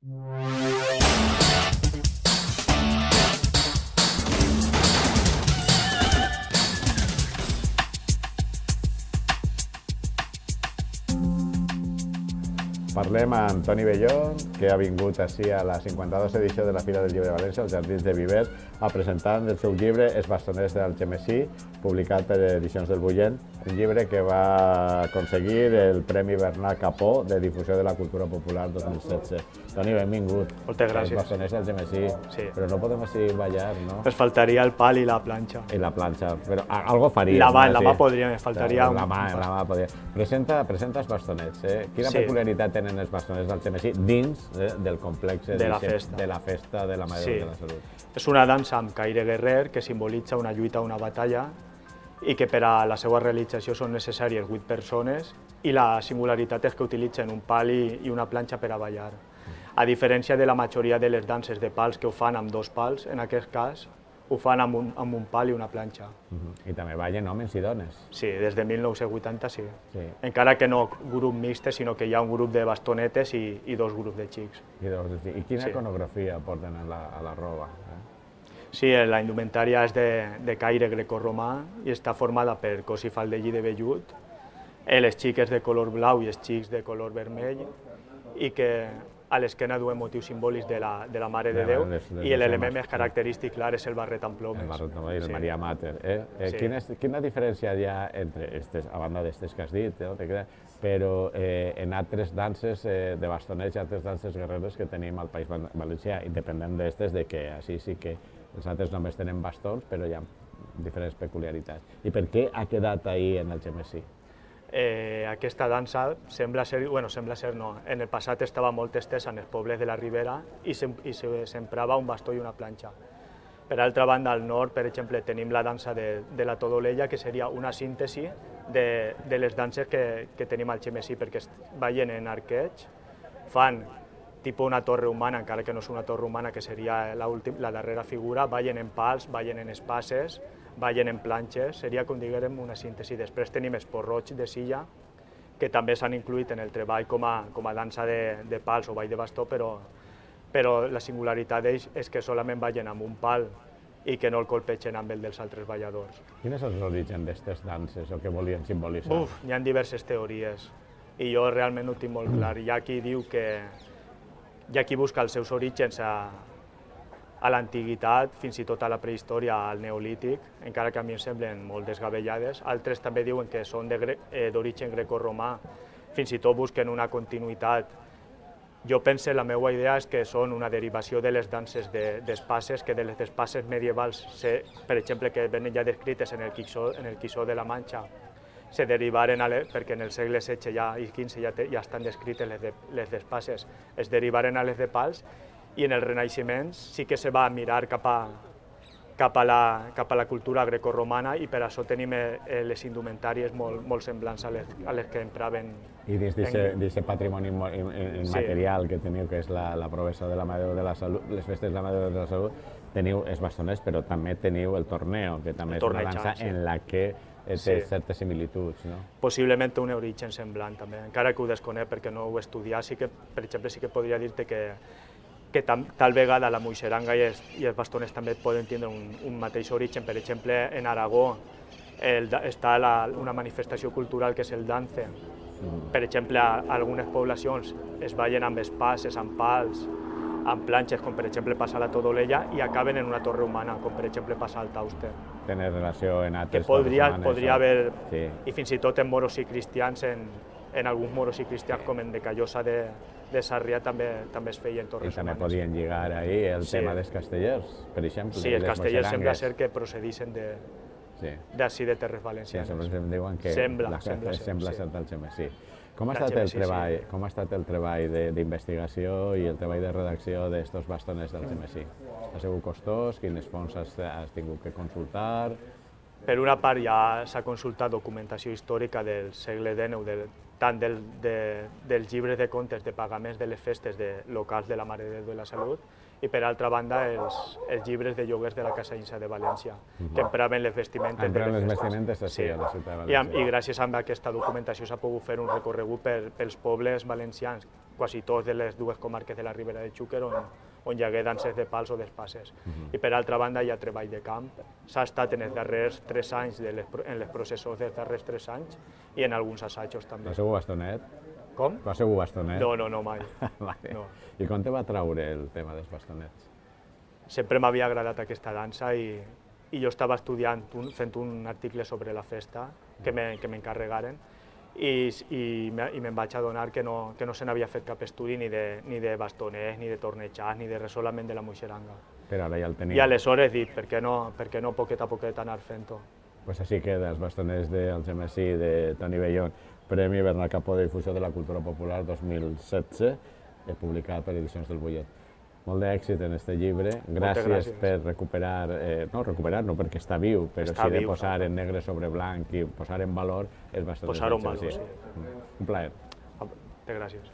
Parlem amb Toni Bellón, que ha vingut així a la 52a edició de la Fira del Llibre de València, als Jardins de Viver, a presentar el seu llibre Els bastoners d'Algemesí, publicat per Edicions del Bullent, un llibre que va aconseguir el Premi Bernat Capó de Difusió de la Cultura Popular 2016. Toni, benvingut. Moltes gràcies. Els bastoners d'Algemesí, sí. Però no podem així ballar, no? Ens faltaria el pal i la planxa. I la planxa, però algo faríem. La mà podria, me faltaria la mà podria. Presenta els bastonets. Quina peculiaritat tenen els bastoners d'Algemesí dins del complex de la festa de la Mare de la Salut? És una dansa amb caire guerrer que simbolitza una lluita, una batalla, i que per a la seva realització són necessàries 8 persones, i la singularitat és que utilitzen un pal i una planxa per a ballar. A diferència de la majoria de les danses de pals que ho fan amb 2 pals, en aquest cas ho fan amb un pal i una planxa. I també ballen homes i dones. Sí, des de 1980 sí. Encara que no grup mixte, sinó que hi ha un grup de bastonetes i 2 grups de xics. I quina iconografia porten a la roba? Sí, la indumentària és de caire grecorromà i està formada per cos i faldell de vellut, les xiques de color blau i els xics de color vermell, i que a l'esquena duen motius simbòlics de la Mare de Déu, i l'element més característic, clar, és el barret amb plomes. El barret amb plomes i el Maria Mater. Quina diferència hi ha entre, a banda d'aquestes que has dit, però en altres danses de bastonets i altres danses guerreres que tenim al País Valencià, independent d'aquestes, que així sí que els altres només tenen bastons, però hi ha diferents peculiaritats. I per què ha quedat ahí en Algemesí? Aquesta dansa sembla ser no, en el passat estava molt estesa en els pobles de la Ribera i s'emprava un bastó i una planxa. Per altra banda, al nord, per exemple, tenim la dansa de la Todolella, que seria una síntesi de les danses que tenim al Algemesí, perquè ballen en arqueig, fan tipus una torre humana, encara que no és una torre humana, que seria la darrera figura, ballen en pals, ballen en espases, ballen en planxes, seria, com diguem, una síntesi. Després tenim els porroig de silla, que també s'han incluït en el treball com a dansa de pals o ball de bastó, però la singularitat d'ells és que solament ballen amb un pal i que no el colpegen amb el dels altres balladors. Quin és l'origen d'aquestes danses o què volien simbolitzar? Hi ha diverses teories i jo realment ho tinc molt clar. Hi ha qui diu que hi ha qui busca els seus orígens a l'antiguitat, fins i tot a la prehistòria, al neolític, encara que a mi em semblen molt desgavellades. Altres també diuen que són d'origen grecorromà, fins i tot busquen una continuïtat. Jo penso, la meva idea és que són una derivació de les danses d'espases, que de les espases medievals, per exemple, que venen ja descrites en el Quixó de la Manxa, se derivaren, perquè en el segle XVI i XV ja estan descrites les d'espases, es derivaren a les de pals, i en el Renaixement sí que se va mirar cap a la cultura grecorromana, i per això tenim les indumentàries molt semblants a les que empraven. I dins d'aquest patrimoni immaterial que teniu, que és la Provesa de la Mare de la Salut, les festes de la Mare de la Salut, teniu els bastoners, però també teniu el torneo, que també és una dansa en la que té certes similituds. Possiblement té un origen semblant, també, encara que ho desconec perquè no ho he estudiat. Per exemple, sí que podria dir-te que tal vegada la moixeranga i els bastoners també poden tindre un mateix origen. Per exemple, en Aragó està una manifestació cultural que és el dance. Per exemple, a algunes poblacions es ballen amb espases, amb pals, amb planxes, com per exemple passa a la Todolella, i acaben en una torre humana, com per exemple passa al Tauster. Tenen relació en altres que podria haver, i fins i tot en moros i cristians, en alguns moros i cristians, com en de Callosa de Sarrià, també es feien torres humanes. I també podien lligar ahir el tema dels castellers, per exemple. Sí, els castellers sembla ser que procedixen d'ací de terres valencianes. Sí, sempre em diuen que sembla ser d'Algemesí. Com ha estat el treball d'investigació i el treball de redacció d'aquests bastoners d'Algemesí? Ha sigut costós? Quines fonts has tingut que consultar? Per una part ja s'ha consultat documentació històrica del segle XIX, tant dels llibres de contes de pagaments de les festes locals de la Mare de Déu de la Salut, i per altra banda els llibres de lloguers de la Casa Insa de València, que empraven les vestimentes de les festes. Sí, a la ciutat de València. I gràcies a aquesta documentació s'ha pogut fer un recorregut pels pobles valencians, quasi tots de les dues comarques de la Ribera de Xúquer on hi hagué danses de pals o d'espases. I per altra banda hi ha treball de camp. S'ha estat en els darrers 3 anys, en les processons dels darrers 3 anys i en alguns assajos també. Va ser bastonet? Com? Va ser bastonet? No, mai. Vale. No. I com te va traure el tema dels bastonets? Sempre m'havia agradat aquesta dansa i jo estava estudiant, fent un article sobre la festa que m'encarregaren i me'n vaig adonar que no se n'havia fet cap estudi ni de bastoners, ni de tornejats, ni de res, solament de la moixeranga. Però ara ja el tenia. I aleshores dic, per què no poquet a poquet anar fent-ho? Pues així queda, els bastoners dels MSI de Toni Bellón, Premi Bernat Capó de Difusió de la Cultura Popular 2016, publicat per Edicions del Bollet. Molt d'èxit en aquest llibre, gràcies per recuperar, no perquè està viu, però sí de posar en negre sobre blanc i posar en valor els bastoners. Posar-ho en valor, sí. Un plaer. Gràcies.